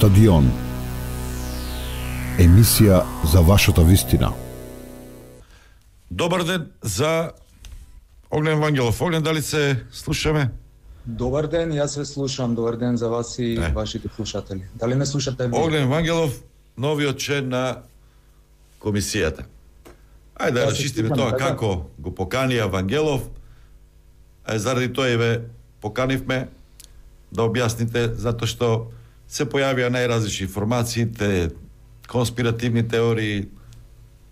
Стадион. Емисија за вашата вистина. Добар ден за Огнен Вангелов. Огнен, дали се слушаме? Добар ден, јас ве слушам. Добар ден за вас и вашите слушатели. Дали ме слушате? Огнен Вангелов, новиот член на комисијата. Ајде да расчистиме тоа како го поканија Вангелов. Заради тоа и ве поканивме да објасните, затоа што се појавија најразлични информации, конспиративни теории.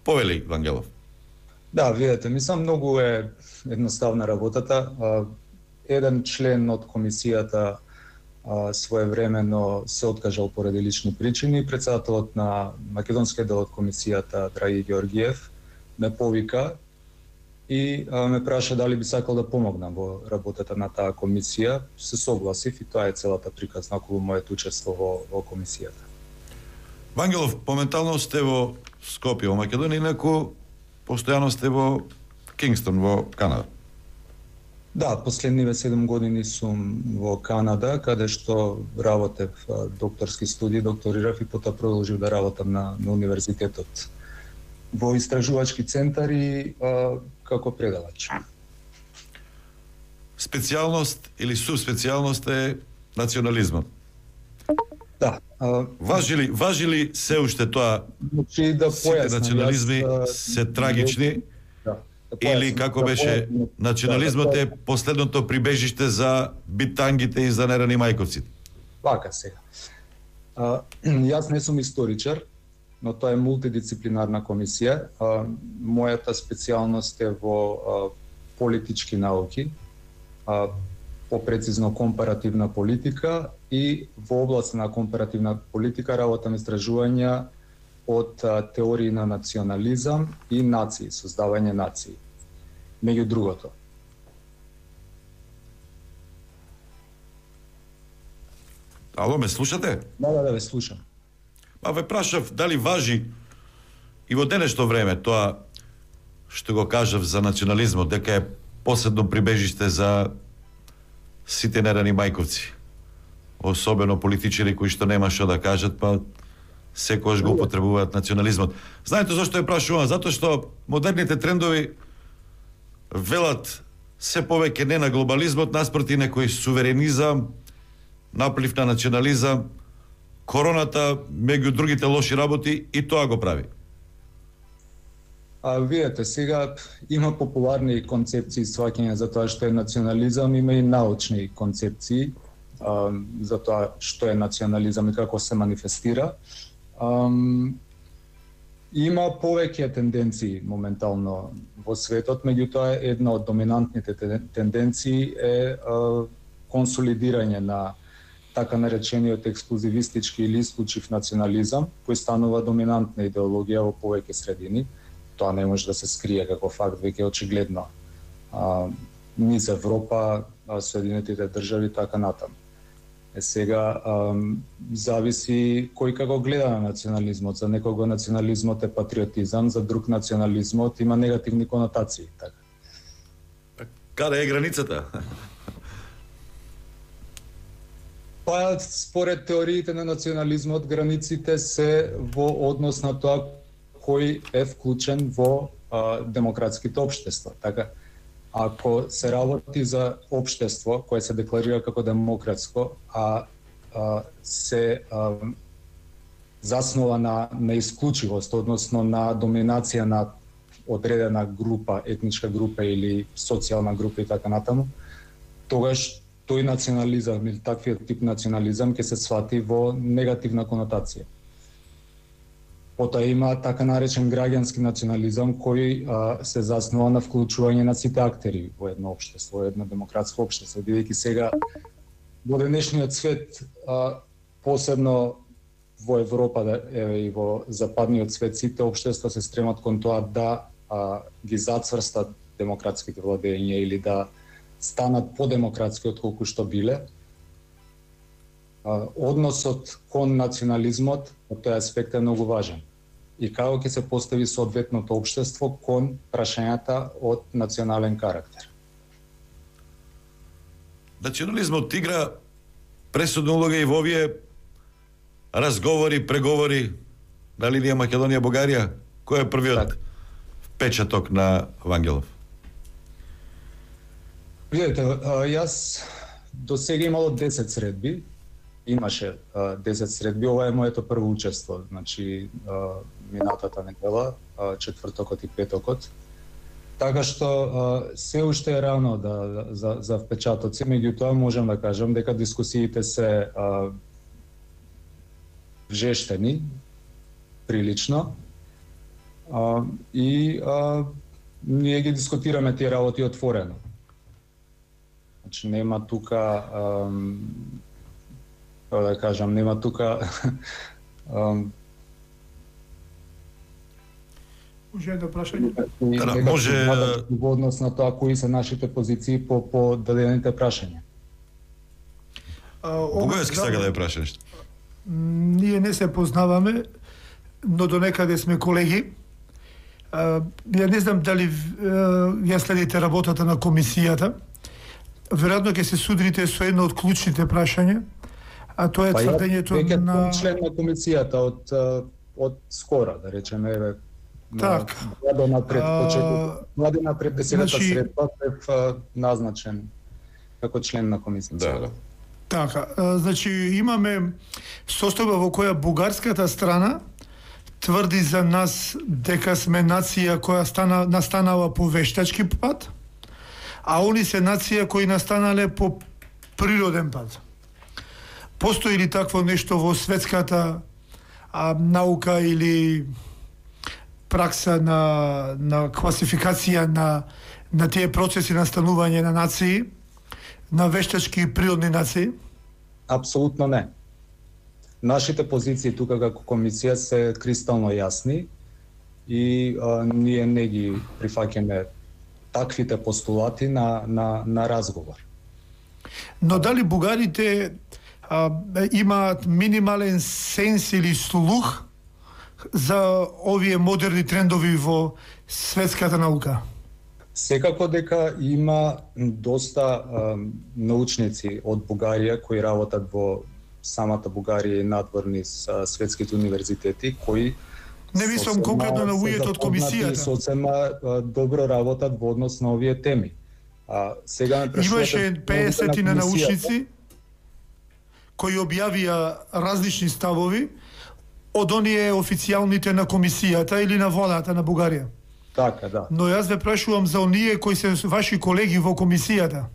Повели, Вангелов. Да, видете, мислам многу е едноставна работата. Еден член од комисијата своевремено се откажал поради лични причини. Председателот на македонскиот дел од комисијата, Драги Георгиев, ме повика и ме праша дали би сакал да помогнам во работата на таа комисија. Се согласив и тоа е целата приказна околу моето учество во комисијата. Вангелов, моментално сте во Скопје, во Македонија, инаку постојано сте во Кингстон, во Канада. Да, последниве 7 години сум во Канада, каде што работев докторски студии, докторирав и потоа продолжив да работам на универзитетот во истражувачки центари како предавач. Специјалност или субспецијалност е национализмот. Да. Важи ли се уште тоа? Значи да сите национализми се трагични? Да. Или како беше, национализмот е последното прибежиште за битангите и за нерани мајковците? Вака сега. Јас не сум историчар, но тоа е мултидисциплинарна комисија. Мојата специјалност е во политички науки, попрецизно компаративна политика, и во област на компаративна политика работам истражувања од теории на национализам и нации, создавање нации. Меѓу другото. Ало, ме слушате? Да, ве слушам. Ве прашав дали важи и во денешно време тоа што го кажав за национализмот, дека е последно прибежиште за сите нерани мајковци. Особено политичари кои што нема што да кажат, па секогаш го употребуваат национализмот. Знаете зашто ја прашувам? Затоа што модерните трендови велат се повеќе не на глобализмот, наспроти некој суверенизам, наплив на национализам, короната, меѓу другите лоши работи, и тоа го прави. Видете, сега има популарни концепции сваќање за тоа што е национализам, има и научни концепции за тоа што е национализам и како се манифестира. Има повеќе тенденции моментално во светот, меѓутоа една од доминантните тенденции е консолидирање на така наречениот ексклузивистички или исклучив национализам, кој станува доминантна идеологија во повеќе средини. Тоа не може да се скрие како факт, веќе очигледно. Низ Европа, Соединетите држави, така натаму. Сега зависи кој како гледа на национализмот. За некого национализмот е патриотизам, за друг национализмот има негативни конотации. Така. Каде е границата? Па, според теориите на национализмот, границите се во однос на тоа кој е вклучен во демократските општества. Така, ако се работи за општество кое се декларира како демократско, се заснова на исклучивост, односно на доминација на одредена група, етничка група или социјална група и така натаму, тогаш тој национализам или таквиот тип национализам ќе се свати во негативна конотација. Потоа има така наречен граѓански национализам кој се заснува на вклучување на сите актери во едно општество, во едно демократско општество, бидејќи сега во денешниот свет, посебно во Европа и во западниот свет, сите општества се стремат кон тоа да ги зацврстат демократските владења или да станат подемократски од колку што биле. Односот кон национализмот од тој аспект е многу важен. И како ќе се постави соодветното општество кон прашањата од национален карактер. Национализмот игра пресудна улога и во овие разговори, преговори на линија Македонија-Бугарија? Кој е првиот впечаток на Вангелов? Видете, јас до сега имало 10 средби. Имаше 10 средби, ова е моето прво учество, значи минатата недела, четвртокот и петокот. Така што се уште е рано за впечатоци, меѓутоа можам да кажам дека дискусиите се жештени, прилично, и ние ги дискутираме тие работи отворено. Значи нема тука да кажам, нема тука Може да прашање? Може во однос на тоа кои се нашите позиции по дадените прашања. Бугајски сака да ја прашаш нешто. Ние не се познаваме, но до некаде сме колеги. Ја не знам дали ја следите работата на комисијата. Веројатно ќе се судрите со едно од клучните прашања, а тоа е тврдењето на член на комисијата од скора, да речеме, еве, так. Година пред 10-та средба бев назначен како член на комисијата. Да. Така, значи имаме состојба во која бугарската страна тврди за нас дека сме нација која настанала по вештачки пат, а они се нација кои настанале по природен пат. Постои ли такво нешто во светската наука или пракса на класификација на тие процеси на станување на нации, на вештачки и природни нации? Апсолутно не. Нашите позиции тука како комисија се кристално јасни и ние не ги прифаќаме таквите постулати на разговор. Но дали бугарите имаат минимален сенс или слух за овие модерни трендови во светската наука? Секако дека има доста научници од Бугарија кои работат во самата Бугарија и надворни светските универзитети кои не мислам конкретно на луѓето од комисијата. Сосема добро работат во однос на овие теми. Сега ме прашувате, имаше 50 на научници кои објавија различни ставови од оние официјалните на комисијата или на владата на Бугарија. Така, да. Но јас ве прашувам за оние кои се ваши колеги во комисијата.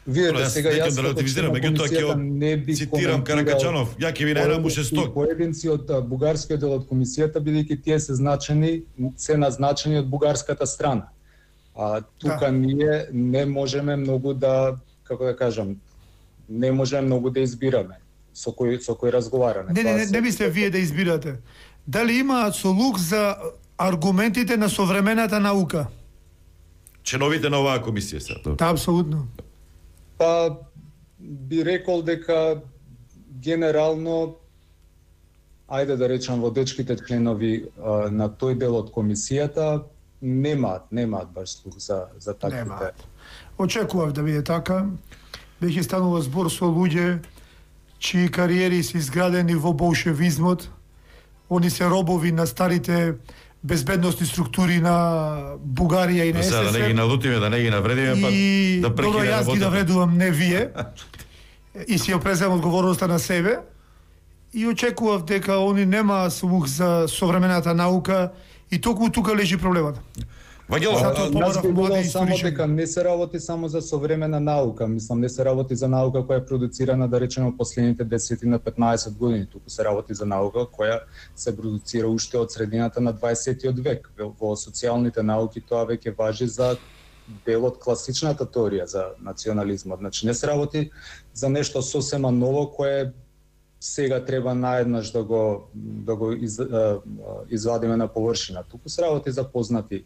Видете, сега јас да релативизирам, меѓутоа ќе цитирам Каракачанов, ја ќе ви најдам уште сток. Поединци од бугарскиот дел од комисијата, бидејќи тие се назначени од бугарската страна. Тука ние не можеме многу да, како да кажам, не можеме многу да избираме со кој разговараме. Не мисле вие да избирате. Дали имаат слух за аргументите на современата наука? Членовите на оваа комисија се. Да, апсолутно. Па би рекол дека генерално, ајде да речам, водечките членови на тој дел од комисијата немаат баш слух за таквите. Очекував да биде така. Беќе станува збор со луѓе чии кариери се изградени во болшевизмот. Они се робови на старите безбедностни структури на Бугарија и на СССР. Да не ги налутиме, да не ги навредиме, па да прекине работата. Јас ги навредувам, не вие. И си ја преземам одговорноста на себе. И очекував дека они нема слух за современата наука и токму тука лежи проблемот. Нас би било само дека не се работи само за современа наука, мислам не се работи за наука која е продуцирана да речеме последните 10 на 15 години, туку се работи за наука која се продуцира уште од средината на 20-тиот век. Во социјалните науки тоа веќе важи за дел од класичната теорија за национализмот. Значи не се работи за нешто сосема ново кое сега треба наеднаш да го извадиме на површина. Туку се работи за познати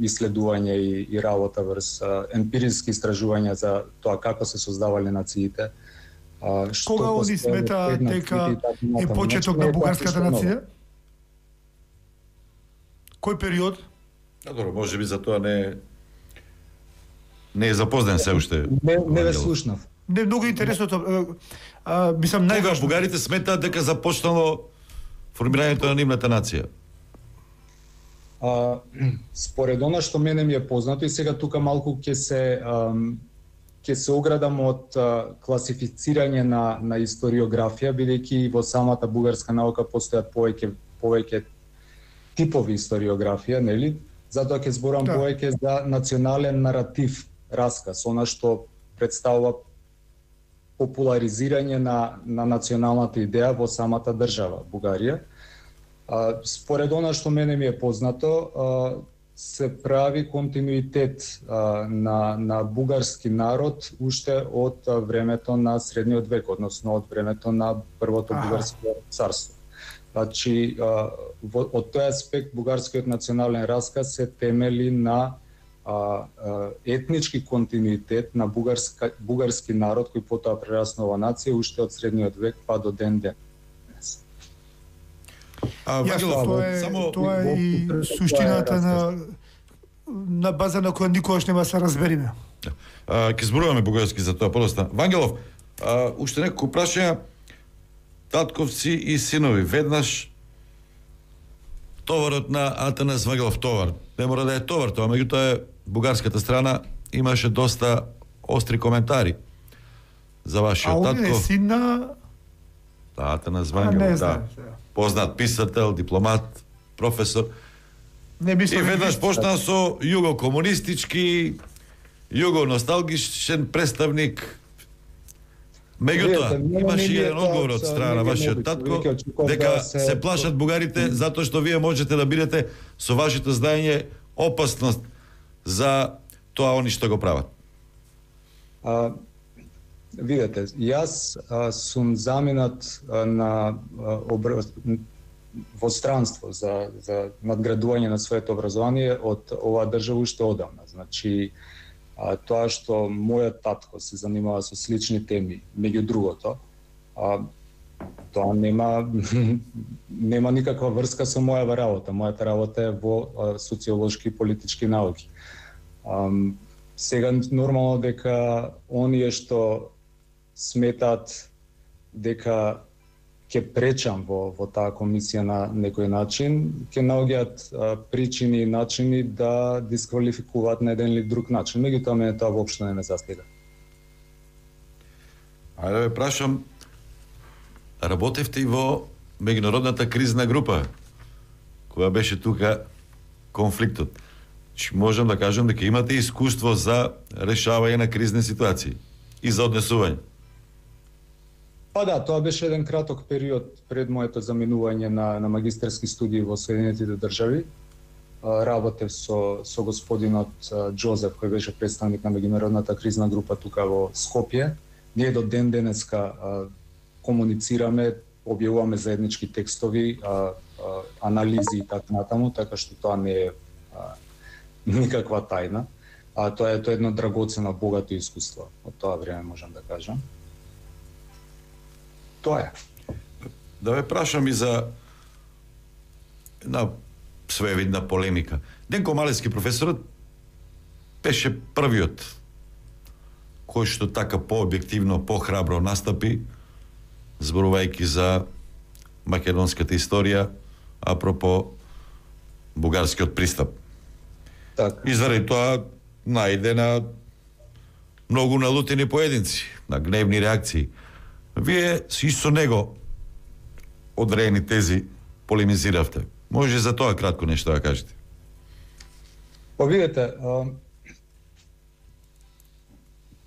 иследувања и работа врз емпириски истражувања за тоа како се создавале нациите. Кога они смета дека е почеток на бугарската нација? Кој период? Добро, можеби за тоа не е запознен се уште. Не ве слушнав. Не многу интересното, мислам Кога најважно. бугарите сметаат дека започнало формирањето на нивната нација? Според она што мене ми е познато, и сега тука малку ќе се оградам од класифицирање на историографија, бидејќи во самата бугарска наука постојат повеќе типови историографија, нели? Затоа ќе зборам повеќе за национален наратив, расказ, она што представува популаризирање на националната идеја во самата држава Бугарија. Според она што мене ми е познато, се прави континуитет на бугарски народ уште од времето на средниот век, односно од времето на првото бугарско царство. Значи, од тој аспект бугарскиот национален расказ се темели на етнички континуитет на бугарски народ кој потоа прераснува нација уште од средниот век па до ден денес. Тоа е и суштината на база на која никогаш нема се разбериме. Ќе зборуваме бугарски за тоа подоста. Вангелов, уште неколку прашања. Татковци и синови, веднаш товарот на Атанас Вангелов товар. Не мора да е товар тоа, меѓутоа бугарската страна имаше доста остри коментари за вашиот татко. А он е син на Атанас Вангелов, да. Познат писател, дипломат, професор. Не мислам. И веднаш почна со југокомунистички, југоносталгичен представник. Меѓутоа, имаше еден одговор од страна на вашиот татко дека се плашат бугарите затоа што вие можете да бидете со вашето знаење опасност за тоа они што го прават. Видете, јас сум заминат на во странство за надградување на своето образование од оваа држава уште одамна. Значи, тоа што мојот татко се занимава со слични теми, меѓу другото, тоа нема никаква врска со мојава работа. Мојата работа е во социолошки и политички науки. Сега нормално дека оние што сметаат дека ќе пречам во таа комисија на некој начин, ќе наоѓаат причини и начини да дисквалификуваат на еден или друг начин. Меѓутоа мене тоа воопшто не ме застига. Ајде да ве прашам, работевте и во меѓународната кризна група, која беше тука конфликтот. Можам да кажам дека имате искуство за решавање на кризни ситуации и за однесување. Па да, тоа беше еден краток период пред моето заминување на магистерски студии во Соединетите држави. Работев со господинот Џозеф, кој беше представник на меѓународната кризна група тука во Скопје. Ние до ден денеска комуницираме, објавуваме заеднички текстови, анализи и така натаму, така што тоа не е никаква тајна. Тоа е едно драгоцено, богато искуство од тоа време, можам да кажам. Тоа е. Да ве прашам и за една своевидна полемика. Денко Малевски, професорот, беше првиот кој што така пообјективно, похрабро настапи, зборувајќи за македонската историја, апропо бугарскиот пристап. Так. И заради тоа најде на многу налутени поединци, на гневни реакции. Вие си со него одредени тези полемизиравте. Може за тоа кратко нешто да кажете? Па видете,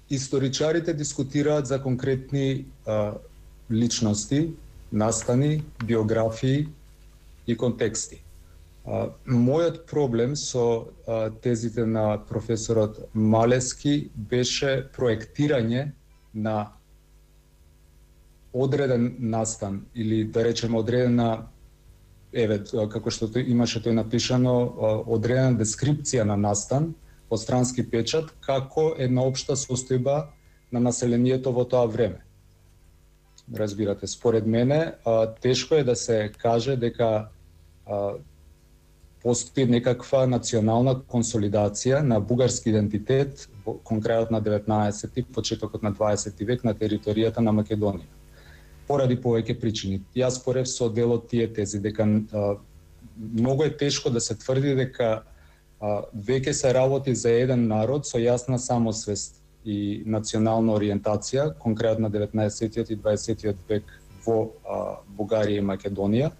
историчарите дискутираат за конкретни личности, настани, биографии и контексти. Мојот проблем со тезите на професорот Малевски беше проектирање на одреден настан или да речеме одредена, како што имаше тој напишано, одредена дескрипција на настан од странски печат како една општа состојба на населението во тоа време. Разбирате, според мене тешко е да се каже дека постои некаква национална консолидација на бугарски идентитет, конкретно на 19-ти, почетокот на 20 век на територијата на Македонија. Поради повеќе причини. Јас спорев со дел од тие тези дека многу е тешко да се тврди дека веќе се работи за еден народ со јасна самосвест и национална ориентација, конкретно 19 и 20 век во Бугарија и Македонија,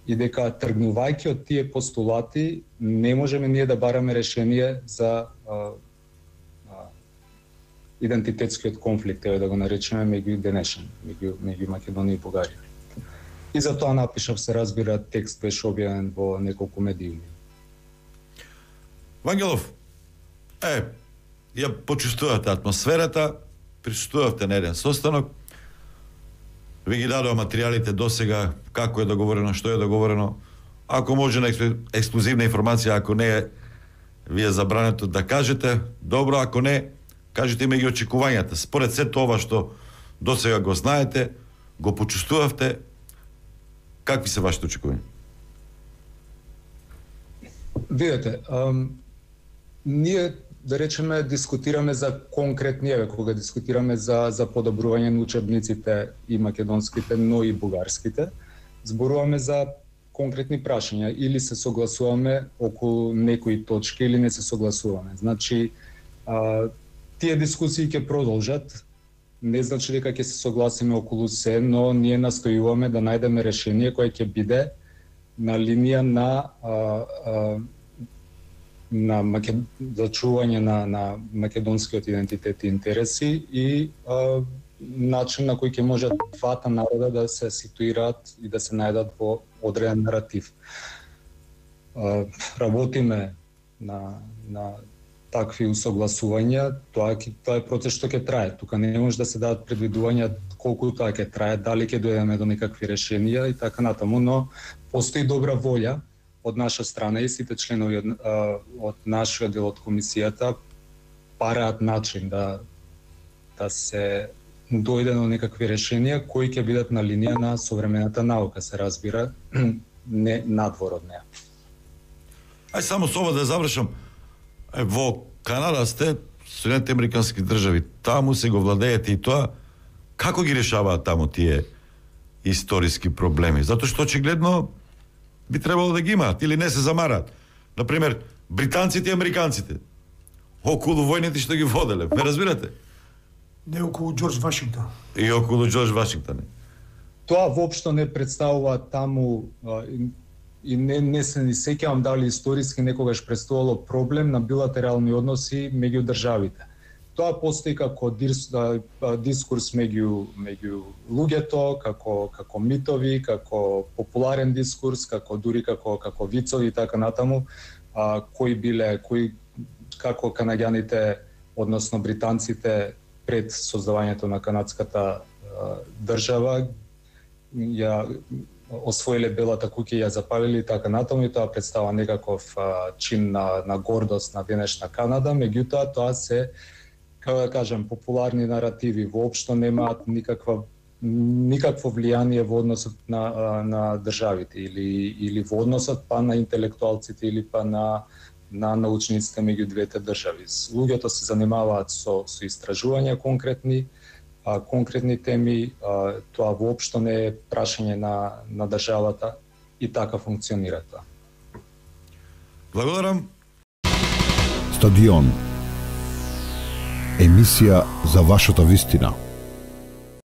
и дека тргнувајќи од тие постулати не можеме ние да бараме решение за идентитетскиот конфликт, да го наречеме меѓу денешен, меѓу Македонија и Бугарија. И затоа напишав, се разбира, текст беше објавен во неколку медиуми. Вангелов, ја почувствувате атмосферата, присуствувавте на еден состанок, ви ги дадоа материјалите досега, како е договорено, што е договорено. Ако може на ексклузивна информација, ако не е, ви е забрането да кажете, добро, ако не, кажете ме ги очекувањата. Според се тоа што досега го знаете, го почувствувавте, какви се вашите очекувања? Видете, ние, да речеме, дискутираме за конкретни, кога дискутираме за подобрување на учебниците и македонските, но и бугарските, зборуваме за конкретни прашања, или се согласуваме околу некои точки, или не се согласуваме. Значи, тие дискусии ќе продолжат, не значи дека ќе се согласиме околу се, но ние настојуваме да најдеме решение кое ќе биде на линија на зачување на македонскиот идентитет и интереси и начин на кој ќе може двата народа да се ситуираат и да се најдат во одреден наратив. Работиме на такви усогласувања, тоа е процес што ќе трае. Тука не може да се дадат предвидувања колку тоа ќе трае, дали ќе дојдеме до некакви решенија и така натаму, но постои добра волја од наша страна и сите членови од нашиот дел од комисијата параат начин да се дојде до некакви решенија кои ќе бидат на линија на современата наука, се разбира, не надвор од неа. Само со ова да завршам. Во Канада сте, Соединените американски држави, таму се го владеете и тоа, како ги решаваат таму тие историски проблеми? Затоа што очигледно би требало да ги имаат или не се замараат. Например, британците и американците околу војните што ги воделе, ме разбирате? Не околу Џорџ Вашингтон. И околу Џорџ Вашингтон. Тоа воопшто не представува таму и не се ни сеќавам дали историски некогаш представувало проблем на билатерални односи меѓу државите. Тоа постои како дискурс меѓу луѓето, како митови, како популарен дискурс, како вицови и така натаму, како канаѓаните, односно британците пред создавањето на канадската држава ја освоиле белата куќа и ја запалили и така натаму, и тоа представува некаков чин на гордост на денешна Канада, меѓутоа тоа се, како да кажам, популарни наративи, воопшто немаат никакво влијание во односот на државите или во односот па на интелектуалците или па на научниците меѓу двете држави. Луѓето се занимаваат со истражувања конкретни теми, тоа воопшто не е прашање на државата и така функционира тоа. Благодарам. Стадион. Емисија за вашата вистина.